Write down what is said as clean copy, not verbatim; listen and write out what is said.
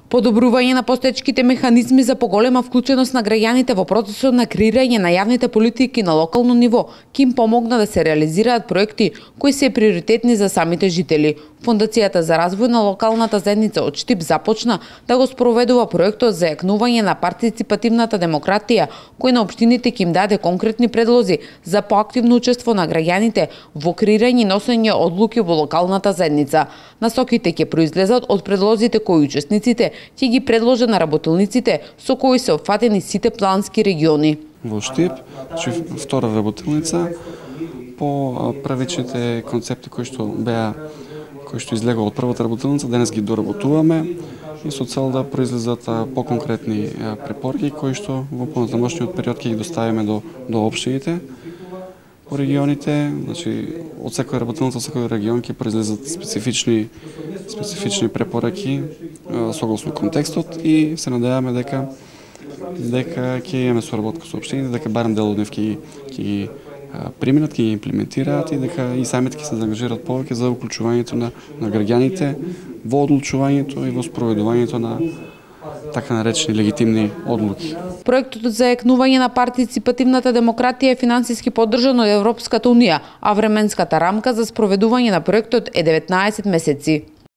Подобрување на постоечките механизми за поголема вклученост на граѓаните во процесот на креирање на јавните политики на локално ниво ќе им помогна да се реализираат проекти кои се приоритетни за самите жители. Фондацијата за развој на локалната заедница од Штип започна да го спроведува проектот за јакнување на партиципативната демократија, кој на општините ќе им даде конкретни предлози за поактивно учество на граѓаните во креирање и носење одлуки во локалната заедница. Насоките ќе произлезат од предлозите кои учесниците ќе ги предложат на работилниците со кои се опфатени сите плански региони. Во Штип, втора работилница по првичните концепти кои што излегува од првата работилница, денес ги доработуваме и со цел да произлезат поконкретни препораки кои што во понатамошниот период ќе ги доставиме до општините по регионите. Значи, од секоја работилница, од секој регион ќе произлезат специфични препораки согласно контекстот и се надеваме дека ќе имаме соработка со општините, дека барем дел од нив ќе ги приминат, ќе ги имплементираат и дека и самите ќе се заангажираат повеќе за уклучувањето на граѓаните во одлучувањето и во спроведувањето на така наречени легитимни одлуки. Проектот за јакнување на партиципативната демократија е финансиски поддржан од Европската унија, а временската рамка за спроведување на проектот е 19 месеци.